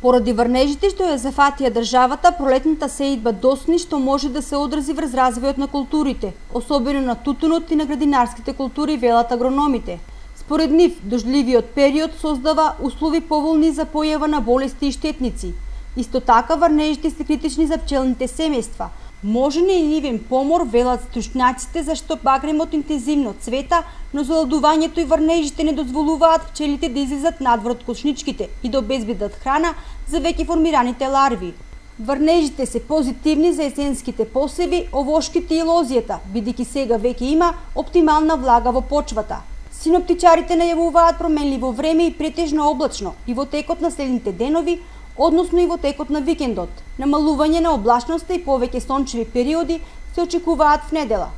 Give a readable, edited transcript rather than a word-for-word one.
Поради врнежите што ја зафатија државата, пролетната сеидба досни што може да се одрази врз развојот на културите, особено на тутунот и на градинарските култури, велат агрономите. Според нив, дождливиот период создава услови поволни за појава на болести и штетници. Исто така, врнежите се критични за пчелните семејства. Можен е и нивен помор, велат стручњаците, зашто багремот интензивно цвета, но заладувањето и врнежите не дозволуваат пчелите да излезат надвор од кошничките и да обезбедат храна за веќе формираните ларви. Врнежите се позитивни за есенските посеви, овошките и лозијата, бидејќи сега веќе има оптимална влага во почвата. Синоптичарите најавуваат променливо време и претежно облачно и во текот на следните денови, односно и во текот на викендот. Намалување на облачноста и повеќе сончеви периоди се очекуваат в недела.